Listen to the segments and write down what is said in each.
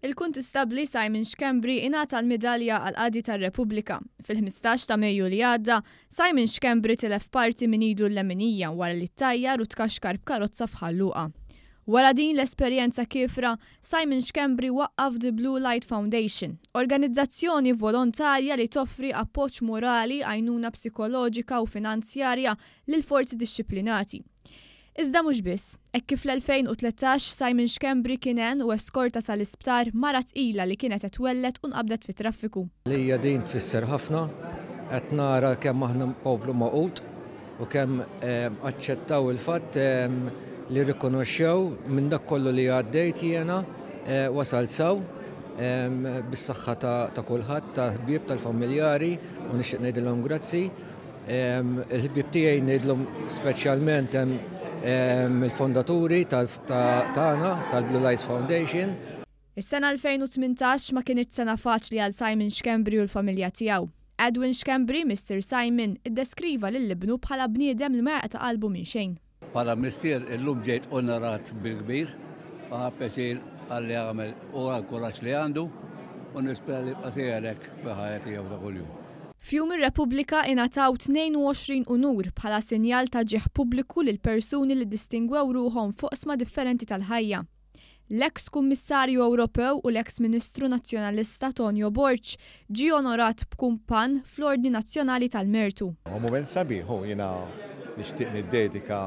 Il-Kuntistabbli Simon Schembri ingħata l-Midalja għall-Qadi tar-Repubblika. Fil-15 ta' Mejju li għadda, Simon Schembri tilef parti minn idu l-leminija wara li ttajjar u tkaxkar b'karozza f'Ħal Luqa. Wara din l-esperjenza kiefra, Simon Schembri waqqaf The Blue Light Foundation, organizzazzjoni volontarja li toffri appoġġ morali, għajnuna psikoloġika u finanzjarja lill-forzi dixxiplinati. Iżda mhux biss, hekk kif fl-2013 Simon Schembri kien għen u eskorta sal-isptar mara tqila li kienet qed twelled u nqabdet fit-traffiku. Għalija din tfisser ħafna, qed nara kemm aħna poplu magħqud u kemm aċċettaw il-fatt li rrikonoxxew minn dak kollu li għaddejt jiena wasalt s'hawn bis-saħħa ta' kulħadd, tal-ħbieb, tal-familjari u nixtieq ngħidilhom grazzi. Il-ħbieb tiegħi ngħidlhom speċjalment hemm il-fondaturi tagħna tal-Blue Lights Foundation. Is-sena 2018 ma kinitx sena faċli għal Simon Schembri u l-familja tiegħu. Edwin Schembri, missier Simon, iddeskriva lil ibnu bħala bniedem li ma jaqta' qalbu minn xejn. Bħala missier illum ġejt onorat bil-kbir u ħadt pjaċir għal li għamel u għall-kuraġġ li għandu u nispera li jibqa' sejjer hekk fil-ħajja tiegħu ta' kuljum. F'Jum ir-Repubblika ingħataw 22 unur bħala sinjal ta' ġieħ pubbliku lil persuni li ddistingwew ruħhom f'oqsma differenti tal-ħajja. L-eks Kummissarju Ewropew u l-eks Ministru Nazzjonalista Tonio Borg ġie onorat b'kumpann fl-Ordni Nazzjonali tal-Mertu. Huwa mument sabiħ u jiena nixtieq niddedika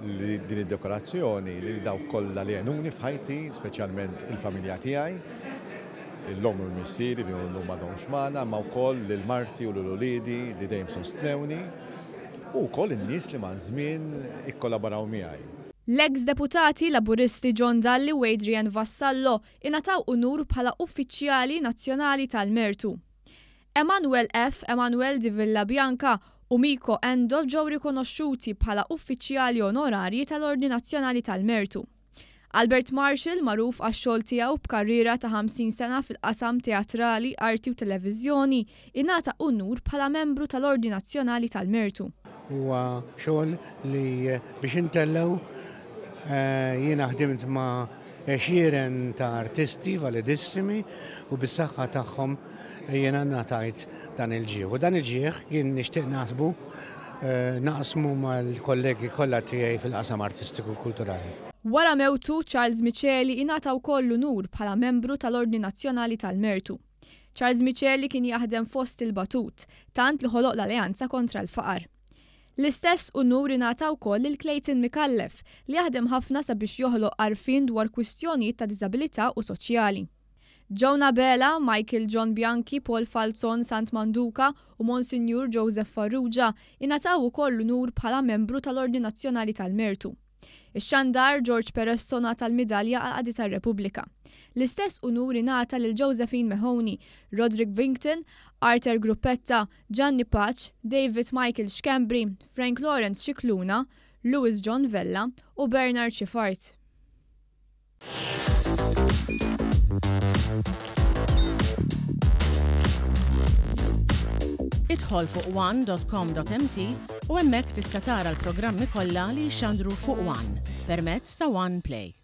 din id-dekorazzjoni lil dawk kollha li għenuni f'ħajti, speċjalment il-familja tiegħi, l-omm u l-missieri li llum m'għadhomx magħna, imma wkoll lil marti u lil uliedi li dejjem sostnewni u wkoll in-nies li maż-żmien ikkollaboraw miegħi. L-eks Deputati Laburisti John Dalli u Adrian Vassallo ingħataw unur bħala Uffiċjali Nazzjonali tal-Mertu. Emmanuel F. Emmanuel di Villabianca u Miko Endo ġew rikonoxxuti bħala Uffiċjali Onorarji tal-Ordni Nazzjonali tal-Mertu. Albert Marshall, magħruf għax-xogħol tiegħu b'karriera ta' 50 sena fil-qasam teatrali, arti u televiżjoni, ingħata unur bħala membru tal-Ordni Nazzjonali tal-Mertu. Huwa xogħol li biex intellgħu jiena ħdimt ma' għexieren ta' artisti validissimi u bis-saħħa tagħhom jiena ngħatajt dan il-ġieħ. U dan il-ġieħ jien nixtieq naħsbu naqsmu mal-kollegi kollha tiegħi fil-qasam artistiku u kulturali. Wara mewtu, Charles Miceli ingħata wkoll l-unur bħala membru tal-Ordni Nazzjonali tal-Mertu. Charles Miceli kien jaħdem fost il-batut, tant li ħoloq l-Alleanza kontra l-Faqar. L-istess unur ingħata wkoll lil Clayton Micallef, li jaħdem ħafna sabiex joħloq għarfien dwar kwistjonijiet ta' diżabilità u soċjali. Joan Abela, Michael John Bianchi, Paul Falzon Sant Manduca u Monsinjur Joseph Farrugia ingħataw ukoll l-unur bħala membru tal-Ordni Nazzjonali tal-Mertu. Ix-xandar George Peresso ngħata l-Midalja għall-Qadi tar-Repubblika. L-istess unur ingħata lil Josephine Mahoney, Roderick Vington, Arthur Gruppetta, Gianni Pace, David Michael Schembri, Frank Lawrence Scicluna, Louis John Vella u Bernard Schiffart. Idħol fuq one.com.mt u hemmhekk tista' tara l-programmi kollha li jixxandru fuq One permezz ta' One Play.